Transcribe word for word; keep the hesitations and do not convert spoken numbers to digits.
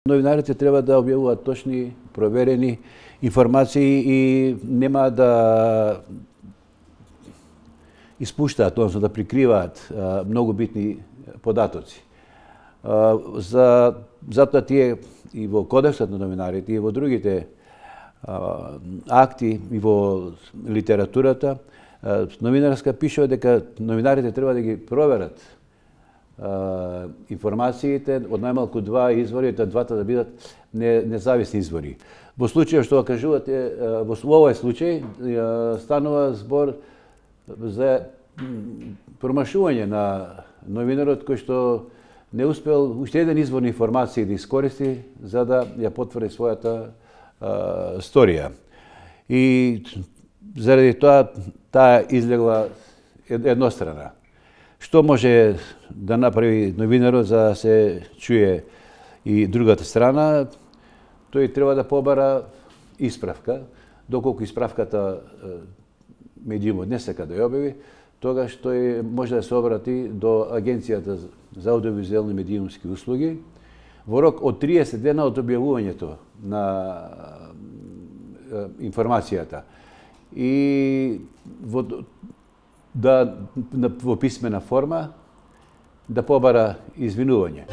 Новинарите треба да објавуваат точни, проверени информации и нема да испуштаат, односно да прикриваат многу битни податоци. За затоа тие и во Кодексот на новинарите и во другите акти и во литературата новинарска пишува дека новинарите треба да ги проверат информациите од најмалку два извори, да двата да бидат независни извори. Во случајот што кажувате, во овој случај станува збор за промашување на новинарот кој што не успел уште еден извор на информации да искористи за да ја потврди својата сторија. И заради тоа таа излегла еднострана. Што може да направи новинарот за да се чуе и другата страна? Тој треба да побара исправка. Доколку исправката медиумот не сака да ја објави, тогаш тој може да се обрати до Агенцијата за аудиовизуелни медиумски услуги во рок од триесет дена од објавувањето на информацијата. И во да во писмена форма да побара извинување.